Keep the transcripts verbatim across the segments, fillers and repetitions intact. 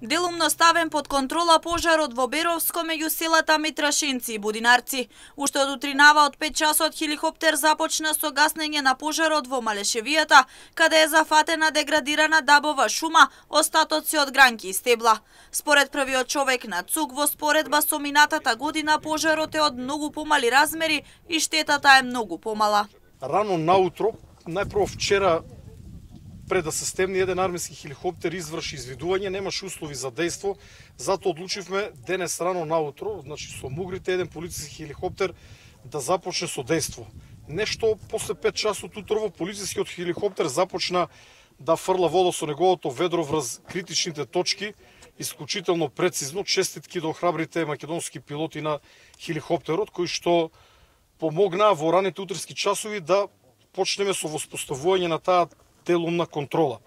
Делумно ставен под контрола пожарот во Беровско меѓу селата Митрашинци и Будинарци. Уште од утринава од пет часот хеликоптер започна со гаснење на пожарот во Малешевијата, каде е зафатена деградирана дабова шума, остатоци од гранки и стебла. Според првиот човек на ЦУК, во споредба со минатата година пожарот е од многу помали размери и штетата е многу помала. Рано наутро, најпрво вчера, пред да се стемни еден армиски хеликоптер изврши извидување, немаше услови за дејство, затоа одлучивме денес рано наутро, значи со мугрите еден полициски хеликоптер да започне со дејство. Нешто после пет часот утрово полицискиот хеликоптер започна да фрла вода со неговото ведро врз критичните точки, исклучително прецизно. Честитки до храбрите македонски пилоти на хеликоптерот, кои што помогнаа во раните утрински часови да почнеме со воспоставување на таа делумна контрола.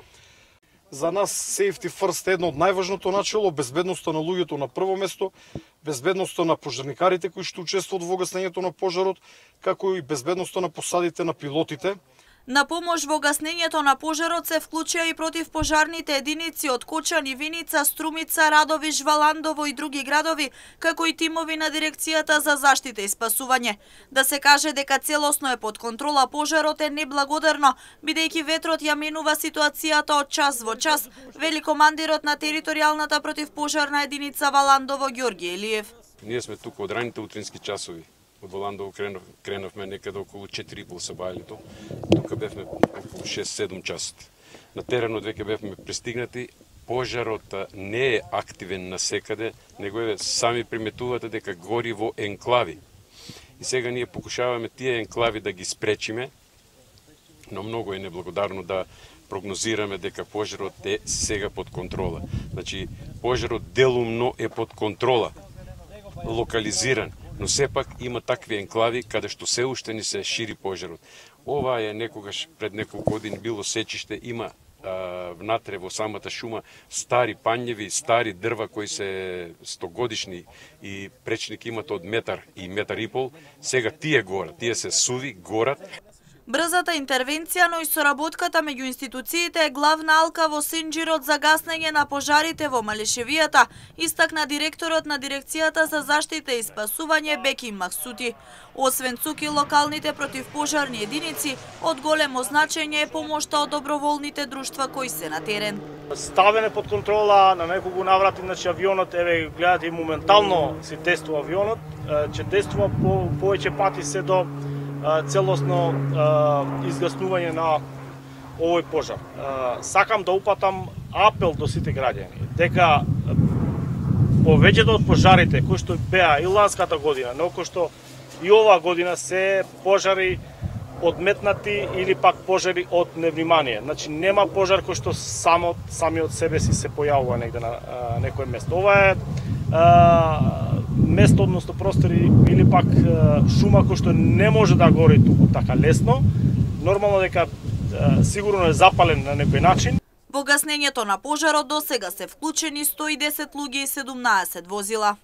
За нас safety first е едно од најважното начело, безбедноста на луѓето на прво место, безбедноста на пожарникарите кои што учествуваат во гаснењето на пожарот, како и безбедноста на посадите на пилотите. На помош во гаснењето на пожарот се вклучија и противпожарните единици од Кочани, Виница, Струмица, Радови, Жваландово и други градови, како и тимови на Дирекцијата за заштита и спасување. Да се каже дека целосно е под контрола пожарот е неблагодарно, бидејќи ветрот ја менува ситуацијата од час во час, вели командирот на територијалната противпожарна единица Валандово Ѓорги Елиев. Ние сме тука од раните утрински часови. Од Валандово кренав, кренавме некаде околу четири и пол сабајлето. Тука бевме околу шест-седум часот. На теренот веќе бевме пристигнати. Пожарот не е активен насекаде, него е сами приметувате дека гори во енклави. И сега ние покушаваме тие енклави да ги спречиме, но многу е неблагодарно да прогнозираме дека пожарот е сега под контрола. Значи, пожарот делумно е под контрола, локализиран, но сепак има такви енклави каде што се уште ни се шири пожарот. Ова е некогаш пред неколку години било сечиште, има а, внатре во самата шума стари пањеви, стари дрва кои се стогодишни и пречник имат од метар и метар и пол. Сега тие горат, тие се суви, горат. Брзата интервенција, но и соработката меѓу институциите е главна алка во синџирот за гаснење на пожарите во Малешевијата, истакна директорот на Дирекцијата за заштита и спасување Беким Максути. Освен ЦУК и локалните противпожарни единици, од големо значење е помошта од доброволните друштва кои се на терен. Ставен е под контрола на неколку наврати, значи авионот, еве гледате, моментално се тестува авионот, че тестува по повеќе пати се до целосно изгаснување на овој пожар. Сакам да упатам апел до сите граѓани дека повеќето од пожарите кои што беа и ланската година, но кои што и оваа година се пожари одметнати или пак пожари од невнимание. Значи нема пожар кој што само сами од себе си се појавува негде на а, некое место. Ова е а, место, односно простори или пак а, шума кој што не може да гори туку така лесно. Нормално дека а, сигурно е запален на некој начин. Во гаснењето на пожарот досега се вклучени сто и десет луѓе и седумнаесет возила.